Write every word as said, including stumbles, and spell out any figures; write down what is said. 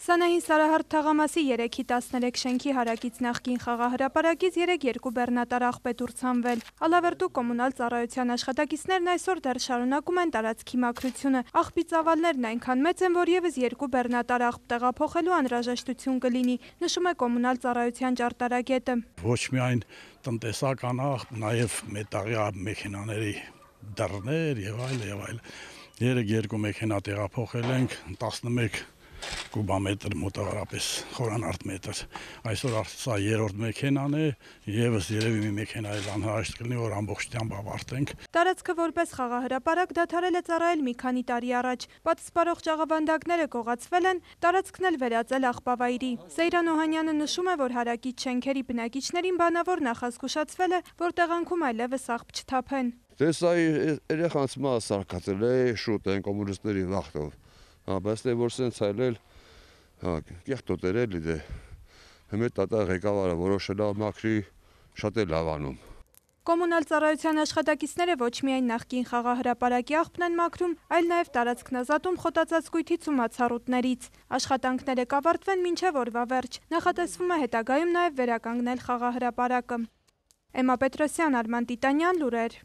Սանահին Սարահարթ թաղամասի երեքի տասներեք շենքի հարակից նախկին խաղահրապարակից երեկ երկու բեռնատար աղբետ ուրցանվել։ Ալավերդու կոմունալ ծառայության աշխատակիցներն այսօր դեռ շարունակում են տարածքի մաքրությունը։ Աղբի ծավալներն այնքան մեծ են, որ եւս երկու բեռնատար աղբ տեղափոխելու անհրաժեշտություն կլինի, նշում է կոմունալ ծառայության ճարտարագետը։ Ոչ միայն տնտեսական աղբ, նաեւ մետաղյա մեքենաների դռներ եւ այլ եւ այլ։ Երեկ երկու մեքենա տեղափոխել ենք, տասնմեկ կուբամետր մոտավորապես խորանարդ մետր։ Այսօր սա երրորդ մեքենան է, եւս երևի մի մեքենա էլ անհրաժեշտ կլինի, որ ամբողջությամբ ավարտենք։ Տարածքը որպես խաղահրապարակ դադարել է ծառայել մի քանի տարի առաջ։ Պատսպարող ճաղավանդակները գողացվել են, տարածքն էլ վերածել աղբավայրի։ Սեյրան Օհանյանը նշում է, որ հարակից շենքերի բնակիչներին բանավոր նախազգուշացվել է, որ տեղանքում այլևս աղբ չթափեն։ Դե սա երեխանց մաս սարքացել է շուտ են կոմունիստների վախտով։ Հա, բայց դե որ սենց այլել, հա, կեղտոտ էր էլի դե։ Հիմա տատա ղեկավարը որոշել է մաքրի, շատ է լավ անում։ Կոմունալ ծառայության աշխատակիցները ոչ միայն նախկին խաղահրապարակի աղբն են մաքրում, այլ նաև տարածքն ազատում խոտածածկույթից ու մացառուտներից։ Աշխատանքները կավարտվեն մինչև օրվա վերջ։ Նախատեսվում է հետագայում նաև վերականգնել խաղահրապարակը։ Էմմա Պետրոսյան, Արման Տիտանյան, լուրեր։